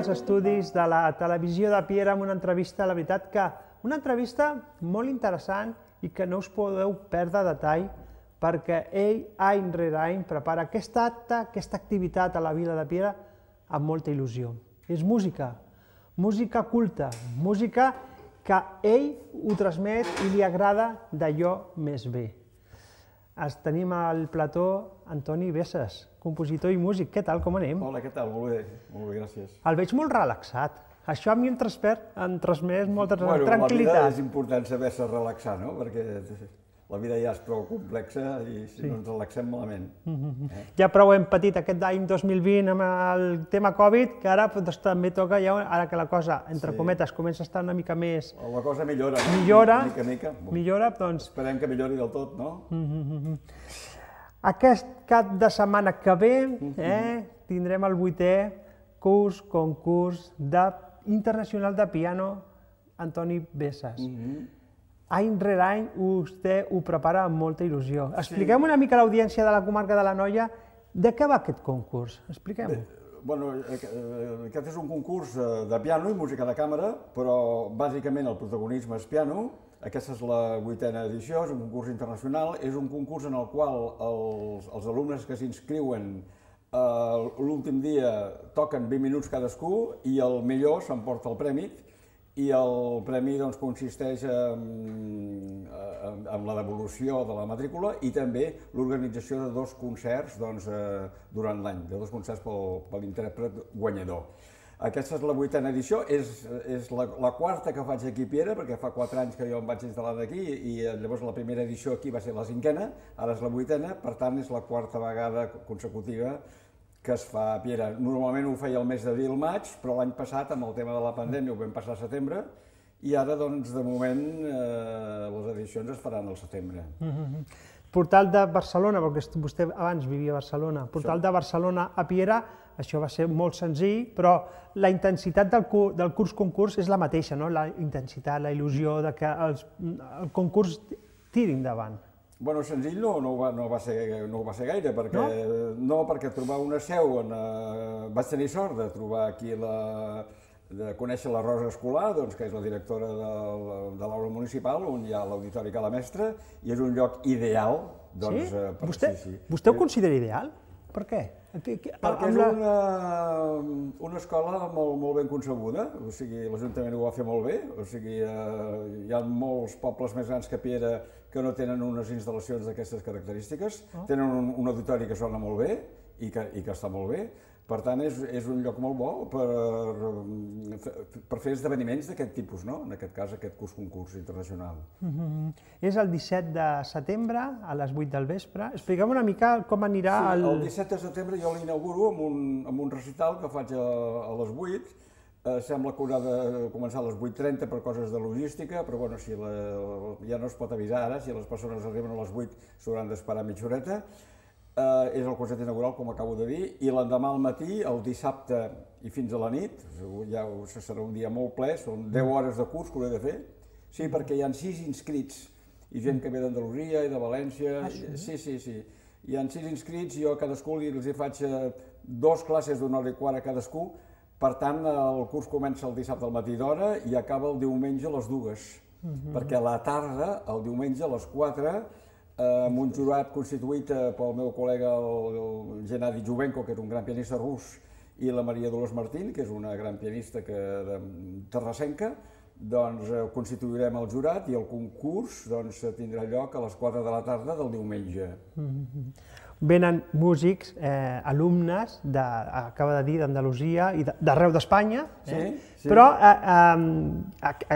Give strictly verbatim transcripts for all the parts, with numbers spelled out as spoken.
als estudis de la televisió de Piera amb una entrevista, la veritat que una entrevista molt interessant i que no us podeu perdre detall perquè ell any rere any prepara aquesta acte, aquesta activitat a la vila de Piera amb molta il·lusió. És música, música culta, música que ell ho transmet i li agrada d'allò més bé. Tenim al plató Antoni Bessas, compositor i músic. Què tal, com anem? Hola, què tal? Molt bé, molt bé, gràcies. El veig molt relaxat. Això a mi em transmet molta tranquil·litat. Bueno, la vida és important saber-se relaxar, no? Perquè la vida ja és prou complexa i si no ens relaxem malament. Ja prou hem patit aquest any dos mil vint amb el tema Covid, que ara també toca, ara que la cosa, entre cometes, comença a estar una mica més... La cosa millora, no? Millora, mica, mica. millora, doncs... Esperem que millori del tot, no? Aquest cap de setmana que ve tindrem el vuitè curs, concurs internacional de piano Antoni Bessas. Any rere any vostè ho prepara amb molta il·lusió. Expliquem una mica a l'audiència de la comarca de l'Anoia de què va aquest concurs. Expliquem-ho. Bueno, aquest és un concurs de piano i música de càmera, però bàsicament el protagonisme és piano. Aquesta és la vuitena edició, és un concurs internacional. És un concurs en el qual els alumnes que s'inscriuen l'últim dia toquen vint minuts cadascú i el millor s'emporta el premi. I el premi consisteix en la devolució de la matrícula i també l'organització de dos concerts durant l'any, de dos concerts per l'intèrpret guanyador. Aquesta és la vuitena edició, és la quarta que faig aquí a Piera, perquè fa quatre anys que jo em vaig instal·lar d'aquí i llavors la primera edició aquí va ser la cinquena, ara és la vuitena, per tant és la quarta vegada consecutiva que es fa a Piera. Normalment ho feia el mes d'abril-maig, però l'any passat, amb el tema de la pandèmia, ho vam passar a setembre, i ara, doncs, de moment, les edicions es faran al setembre. Portal de Barcelona, perquè vostè abans vivia a Barcelona, Portal de Barcelona a Piera, això va ser molt senzill, però la intensitat del curs-concurs és la mateixa, no? La intensitat, la il·lusió de que el concurs tiri endavant. Bueno, senzill no ho va ser gaire, perquè trobar una seu, vaig tenir sort de trobar aquí, de conèixer la Rosa Escolar, que és la directora de l'aula municipal, on hi ha l'auditori Cala Mestra, i és un lloc ideal. Sí? Vostè ho considera ideal? Per què? Perquè és una escola molt ben concebuda, o sigui, l'Ajuntament ho va fer molt bé, o sigui, hi ha molts pobles més grans que Piera que no tenen unes instal·lacions d'aquestes característiques, tenen un auditori que sona molt bé i que està molt bé, per tant és un lloc molt bo per fer esdeveniments d'aquest tipus, no? En aquest cas, aquest curs-concurs internacional. És el disset de setembre, a les vuit del vespre. Expliquem una mica com anirà el... Sí, el disset de setembre jo l'inauguro amb un recital que faig a les vuit. Sembla que haurà de començar a les vuit trenta per coses de logística, però bueno, ja no es pot avisar ara, si les persones arriben a les vuit s'hauran d'esperar mitja horeta. És el concert inaugural, com acabo de dir, i l'endemà al matí, el dissabte i fins a la nit, ja serà un dia molt ple, són deu hores de curs que hauré de fer, sí, perquè hi ha sis inscrits, i gent que ve d'Andalusia i de València, sí, sí, sí, hi ha sis inscrits, jo a cadascú els faig dues classes d'una hora i quart a cadascú, per tant el curs comença el dissabte al matí d'hora i acaba el diumenge a les dues, perquè a la tarda, el diumenge a les quatre, amb un jurat constituït pel meu col·lega el Gennady Juvenko, que és un gran pianista rus, i la Maria Dolors Martín, que és una gran pianista terrassenca, doncs constituirem el jurat i el concurs tindrà lloc a les quatre de la tarda del diumenge. Venen músics, alumnes, acaba de dir, d'Andalusia i d'arreu d'Espanya, però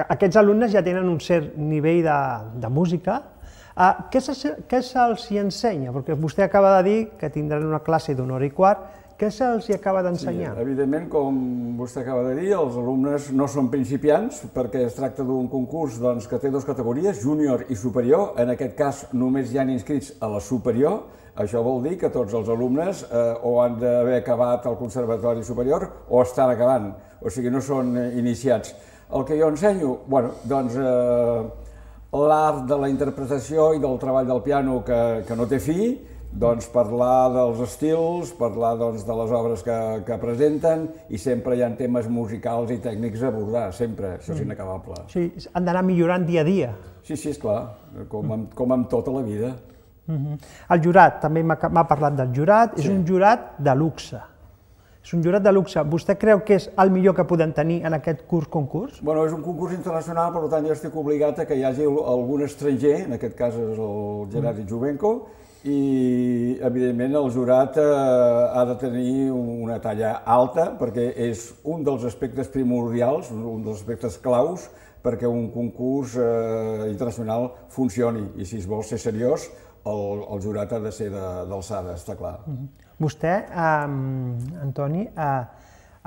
aquests alumnes ja tenen un cert nivell de música. Què se'ls ensenya? Perquè vostè acaba de dir que tindran una classe d'una hora i quart. Què se'ls acaba d'ensenyar? Evidentment, com vostè acaba de dir, els alumnes no són principiants, perquè es tracta d'un concurs que té dues categories, júnior i superior. En aquest cas, només hi ha inscrits a la superior. Això vol dir que tots els alumnes o han d'haver acabat el conservatori superior o estan acabant, o sigui, no són iniciats. El que jo ensenyo, doncs, l'art de la interpretació i del treball del piano que no té fi, Doncs parlar dels estils, parlar doncs, de les obres que, que presenten i sempre hi ha temes musicals i tècnics a abordar, sempre, això és inacabable. Sí, han d'anar millorant dia a dia. Sí, sí, esclar, com amb, com amb tota la vida. Uh-huh. El jurat, també m'ha parlat del jurat, sí. És un jurat de luxe. És un jurat de luxe. Vostè creu que és el millor que podem tenir en aquest curs-concurs? Bueno, és un concurs internacional, per tant jo estic obligat a que hi hagi algun estranger, en aquest cas és el Gennady Jubenko, i evidentment el jurat eh, ha de tenir una talla alta perquè és un dels aspectes primordials, un dels aspectes claus perquè un concurs eh, internacional funcioni i si es vol ser seriós el, el jurat ha de ser d'alçada, està clar. Uh-huh. Vostè, eh, Antoni, eh,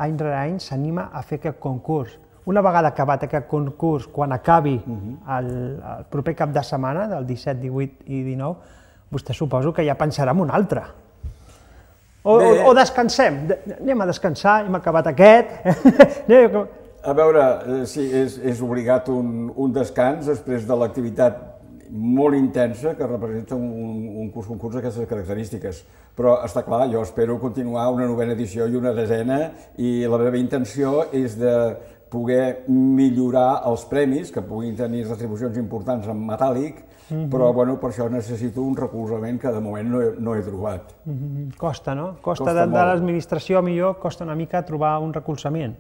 any rere any s'anima a fer aquest concurs. Una vegada acabat aquest concurs, quan acabi uh-huh. el, el proper cap de setmana, del disset, divuit i dinou, vostè suposo que ja pensarà en un altre. O, o, o descansem, anem a descansar, hem acabat aquest. A veure, sí, és, és obligat un, un descans després de l'activitat molt intensa que representa un, un curs-concurs d'aquestes característiques. Però està clar, jo espero continuar una novena edició i una desena i la meva intenció és de poder millorar els premis, que puguin tenir retribucions importants en metàl·lic, mm-hmm. però bueno, per això necessito un recolzament que de moment no he, no he trobat. Mm-hmm. Costa, no? Costa, costa de, de l'administració, millor, costa una mica trobar un recolzament.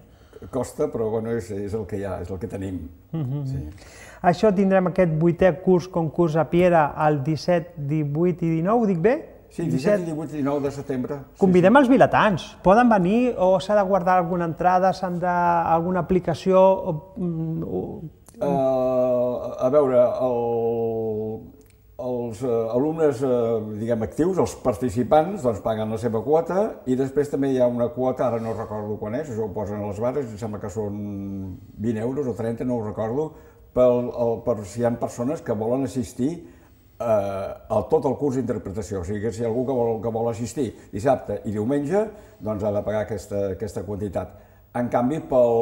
Costa, però bueno, és, és el que hi ha, és el que tenim. Mm-hmm. Sí. Això tindrem aquest vuitè curs-concurs a Piera el disset, divuit i dinou, ho dic bé? Sí, disset, divuit i dinou de setembre. Convidem sí, sí. els vilatans. Poden venir o s'ha de guardar alguna entrada, s'han de... alguna aplicació? O, o... Uh, a veure, el, els uh, alumnes uh, diguem actius, els participants, doncs paguen la seva quota i després també hi ha una quota, ara no recordo quan és, això ho posen a les bares, em sembla que són vint euros o trenta, no ho recordo, per, el, per si hi ha persones que volen assistir eh, a tot el curs d'interpretació. O sigui que si hi ha algú que vol, que vol assistir dissabte i diumenge, doncs ha de pagar aquesta, aquesta quantitat. En canvi, pel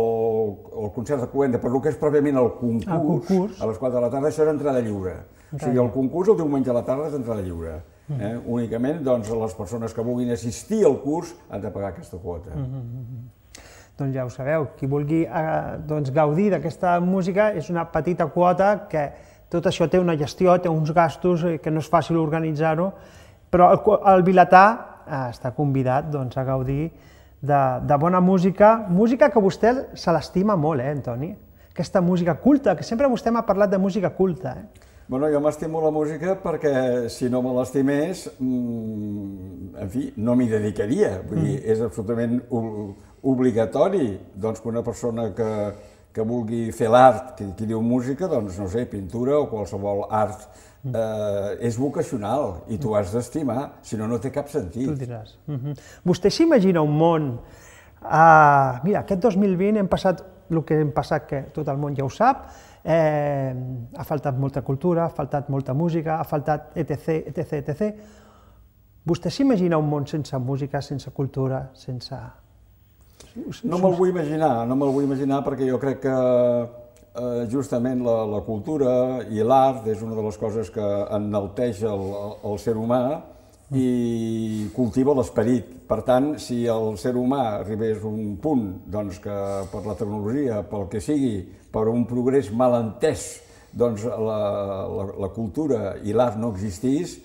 el concert de cloenda, per el que és pròpiament el concurs, el concurs, a les quatre de la tarda, això és entrada lliure. O sigui, el concurs el diumenge a la tarda és entrada lliure. Eh? Mm. Únicament, doncs, les persones que vulguin assistir al curs han de pagar aquesta quota. Mm-hmm. Doncs ja ho sabeu, qui vulgui eh, doncs, gaudir d'aquesta música és una petita quota que tot això té una gestió, té uns gastos, que no és fàcil organitzar-ho, però el, el vilatà eh, està convidat doncs, a gaudir de, de bona música, música que vostè se l'estima molt, eh, Antoni? Aquesta música culta, que sempre vostè m'ha parlat de música culta. Eh? Bueno, jo m'estimo la música perquè si no me l'estimés, mmm, en fi, no m'hi dedicaria. Vull dir, és absolutament obligatori doncs, que una persona que, que vulgui fer l'art, que, que diu música, doncs, no sé, pintura o qualsevol art, eh, és vocacional i tu has d'estimar, si no, no té cap sentit. Tu diràs. Uh-huh. Vostè s'imagina un món... Uh, mira, aquest dos mil vint hem passat el que hem passat, que tot el món ja ho sap, eh, ha faltat molta cultura, ha faltat molta música, ha faltat etc, etc, etcètera. Vostè s'imagina un món sense música, sense cultura, sense... No me'l vull imaginar, no me'l vull imaginar perquè jo crec que eh, justament la, la cultura i l'art és una de les coses que enalteix el, el ser humà i cultiva l'esperit. Per tant, si el ser humà arribés a un punt doncs, que per la tecnologia, pel que sigui, per un progrés mal entès, doncs la, la, la cultura i l'art no existís,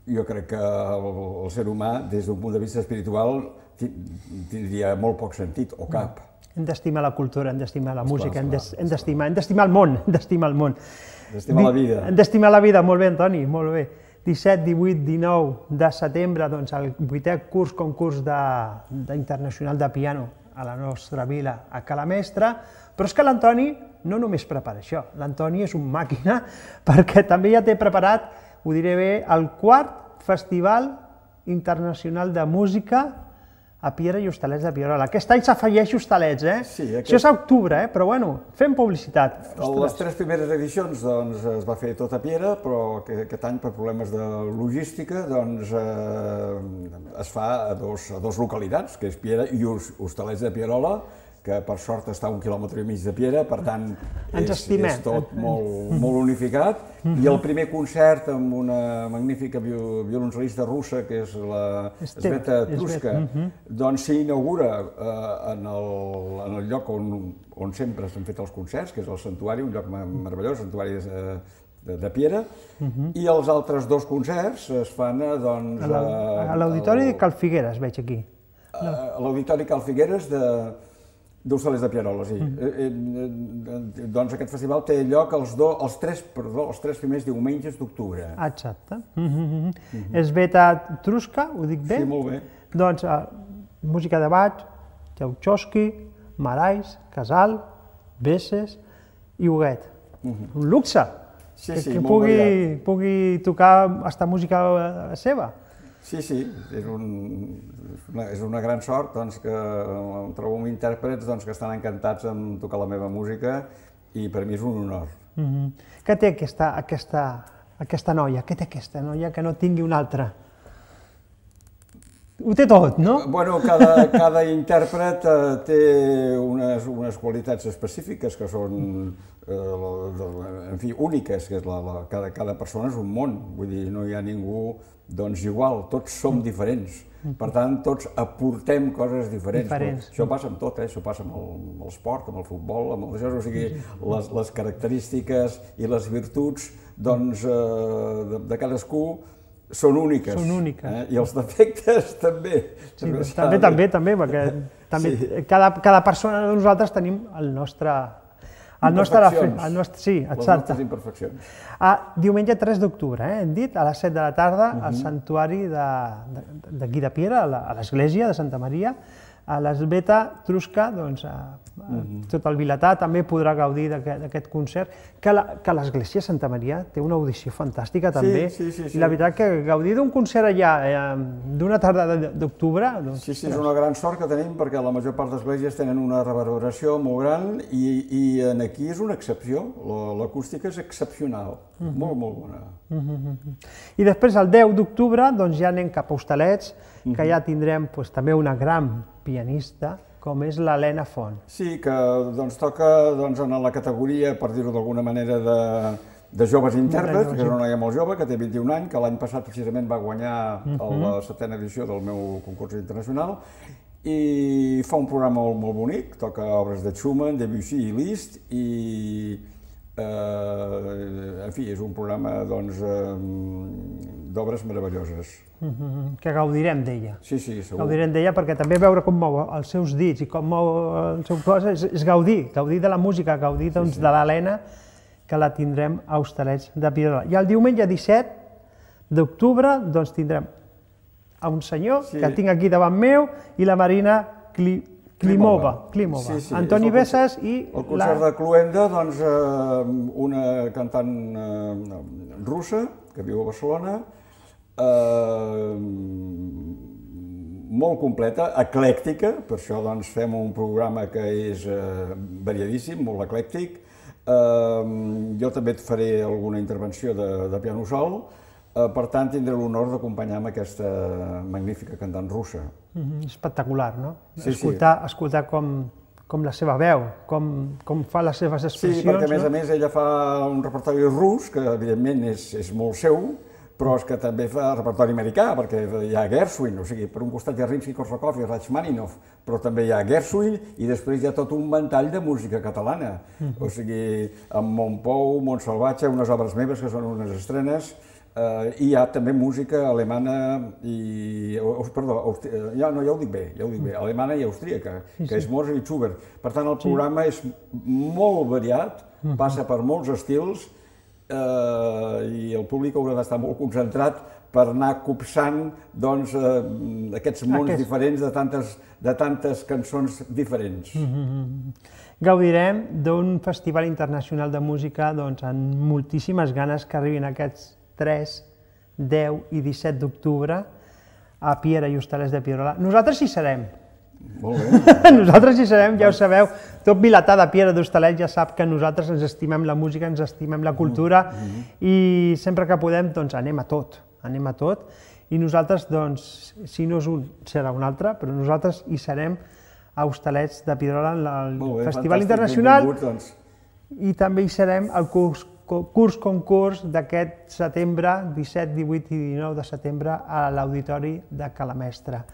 jo crec que el, el ser humà, des d'un punt de vista espiritual, tindria molt poc sentit, o cap. Hem d'estimar la cultura, hem d'estimar la música, hem d'estimar el món, hem d'estimar el món. D'estimar la vida. Hem d'estimar la vida, molt bé, Antoni, molt bé. disset, divuit, dinou de setembre, doncs el vuitè curs concurs d'internacional de piano a la nostra vila, a Cala Mestra, però és que l'Antoni no només prepara això, l'Antoni és un màquina perquè també ja té preparat, ho diré bé, el quart Festival Internacional de Música a Piera i Hostalets de Pierola. Aquest any s'afegeix Hostalets, eh? Sí, aquest... Això és a octubre, eh? Però bueno, fem publicitat. A les tres primeres edicions doncs, es va fer tot a Piera, però aquest any, per problemes de logística, doncs, eh, es fa a dos, a dos localitats, que és Piera i Hostalets de Pierola, que per sort està a un quilòmetre i mig de Piera, per tant Ens és, estimem. és tot molt, molt unificat. I el primer concert amb una magnífica violoncel·lista russa, que és la Sveta Truska, doncs s'inaugura eh, en, el, en el lloc on, on sempre s'han fet els concerts, que és el Santuari, un lloc meravellós, el Santuari de, de, de Piera, i els altres dos concerts es fan eh, doncs, a l'Auditori de Cal Figueres, veig aquí. A l'Auditori Cal Figueres d'Hostalets de Pierola, sí. Mm. Eh, eh, doncs aquest festival té lloc els, do, els, tres, perdó, els tres primers diumenges d'octubre. Exacte. Mm-hmm. Mm-hmm. Sveta Truska, ho dic bé? Sí, molt bé. Doncs uh, música de Bach, Tchaikovsky, Marais, Casal, Besses i Huguet. Mm-hmm. Un luxe! Sí, que, sí, que molt pugui, variat. pugui tocar aquesta música seva. Sí, sí, és, un, una, és una gran sort doncs, que em trobo amb intèrprets doncs, que estan encantats en tocar la meva música i per mi és un honor. Mm-hmm. Què té aquesta, aquesta, aquesta noia? Què té aquesta noia que no tingui una altra? Ho té tot, no? Bueno, cada, cada intèrpret eh, té unes, unes qualitats específiques que són, eh, en fi, úniques, que és la, la, cada, cada persona és un món, vull dir, no hi ha ningú doncs igual, tots som diferents. Per tant, tots aportem coses diferents. diferents. Això passa amb tot, eh? Això passa amb el, amb l'esport, amb el futbol, amb el... o sigui, les, les característiques i les virtuts doncs, eh, de, de cadascú són úniques. Són úniques. Eh? I els defectes també. Sí, també, també, també, perquè també, sí. cada, cada persona de nosaltres tenim el nostre... El nostre, el nostre, sí, exacte. Les nostres imperfeccions. Ah, diumenge tres d'octubre, eh, hem dit, a les set de la tarda, uh-huh. al santuari d'aquí de, de Piera, a l'església de Santa Maria, a l'Sveta Truska, doncs, a, a, uh-huh. tot el vilatà també podrà gaudir d'aquest concert, que l'església de Santa Maria té una audició fantàstica també, sí, sí, sí, sí. i la veritat que gaudir d'un concert allà, eh, d'una tarda d'octubre... Doncs, sí, sí, és una gran sort que tenim perquè la major part d'esglésies tenen una reverberació molt gran i, i en aquí és una excepció, l'acústica és excepcional, uh-huh. molt, molt bona. Uh-huh. I després, el deu d'octubre, doncs ja anem cap a Hostalets, que uh-huh. ja tindrem pues, també una gran pianista, com és l'Helena Font. Sí, que doncs, toca doncs, en la categoria, per dir-ho d'alguna manera, de, de joves intèrprets, que és una noia molt jove, que té vint-i-un anys, que l'any passat precisament va guanyar uh-huh. la setena edició del meu concurs internacional, i fa un programa molt, molt bonic, toca obres de Schumann, Debussy i Liszt, i eh, en fi, és un programa doncs, eh, d'obres meravelloses. Uh-huh. Que gaudirem d'ella. Sí, sí, segur. Gaudirem d'ella perquè també veure com mou els seus dits i com mou el seu cos és, és gaudir, gaudir de la música, gaudir doncs, sí, sí. de l'Helena, que la tindrem a Hostalets de Pierola. I el diumenge disset d'octubre doncs, tindrem a un senyor sí. que tinc aquí davant meu i la Marina Kli... Klimova, Klimova. Sí, sí, Antoni Besses i... El concert la... de Cluenda, doncs, eh, una cantant eh, russa que viu a Barcelona, eh, molt completa, eclèctica, per això doncs, fem un programa que és eh, variadíssim, molt eclèctic. Eh, jo també et faré alguna intervenció de, de piano sol. Per tant, tindré l'honor d'acompanyar amb aquesta magnífica cantant russa. Mm-hmm. Espectacular, no? Sí, escoltar, sí. escoltar com, com la seva veu, com, com fa les seves expressions. Sí, perquè a més no? a més ella fa un repertori rus, que evidentment és, és molt seu, però és que també fa repertori americà, perquè hi ha Gershwin, o sigui, per un costat hi ha Rimsky-Korsakov i Rachmaninoff, però també hi ha Gershwin i després hi ha tot un ventall de música catalana. Mm-hmm. O sigui, amb Montpou, Montsalvatge, unes obres meves que són unes estrenes. Uh, I hi ha també música alemana i... Oh, perdó, ja, no, ja ho dic bé, ja ho dic bé, alemana i austríaca, sí, que sí. és Mozart i Schubert. Per tant, el programa sí. és molt variat, passa per molts estils uh, i el públic haurà d'estar molt concentrat per anar copsant doncs, uh, aquests mons Aquest... diferents de tantes, de tantes cançons diferents. Mm-hmm. Gaudirem d'un festival internacional de música doncs, amb moltíssimes ganes que arribin aquests tres, deu i disset d'octubre a Piera i Hostalets de Pierola. Nosaltres hi serem. Molt bé. Nosaltres hi serem, ja ho sabeu. Tot vilatà de Piera d'Hostalets ja sap que nosaltres ens estimem la música, ens estimem la cultura mm-hmm. i sempre que podem doncs anem a tot, anem a tot. I nosaltres, doncs, si no és un, serà un altre, però nosaltres hi serem a Hostalets de Pierola en el Molt bé, Festival fantàstic, Internacional. benvinguts, doncs. I també hi serem al curs, curs concurs d'aquest setembre, disset, divuit i dinou de setembre, a l'Auditori de Calamestre.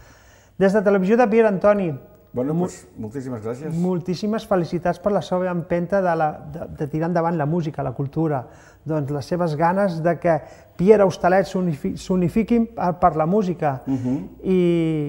Des de Televisió de Piera, Antoni, Bueno, doncs, moltíssimes gràcies. moltíssimes felicitats per la seva empenta de, la, de, de tirar endavant la música, la cultura, doncs les seves ganes de que Piera Hostalets s'unifiquin per la música. Uh-huh. I,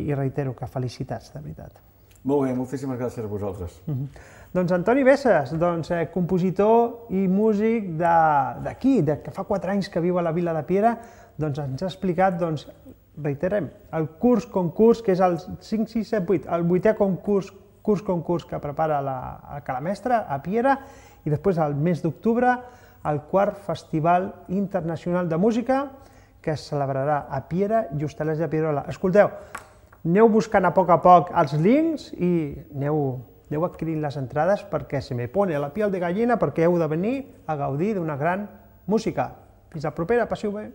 I reitero que felicitats, de veritat. Molt bé, moltíssimes gràcies a vosaltres. Uh-huh. Doncs Antoni Besses, doncs, eh, compositor i músic d'aquí, de, de, que fa quatre anys que viu a la vila de Piera, doncs ens ha explicat, doncs, reiterem, el curs concurs, que és el cinc, sis, set, vuit, el vuitè concurs, curs concurs que prepara la, la Calamestre a Piera, i després al mes d'octubre el quart Festival Internacional de Música, que es celebrarà a Piera i Hostalets de Pierola. Escolteu, aneu buscant a poc a poc els links i aneu, aneu adquirint les entrades perquè se me pone la piel de gallina, perquè heu de venir a gaudir d'una gran música. Fins la propera, passeu bé.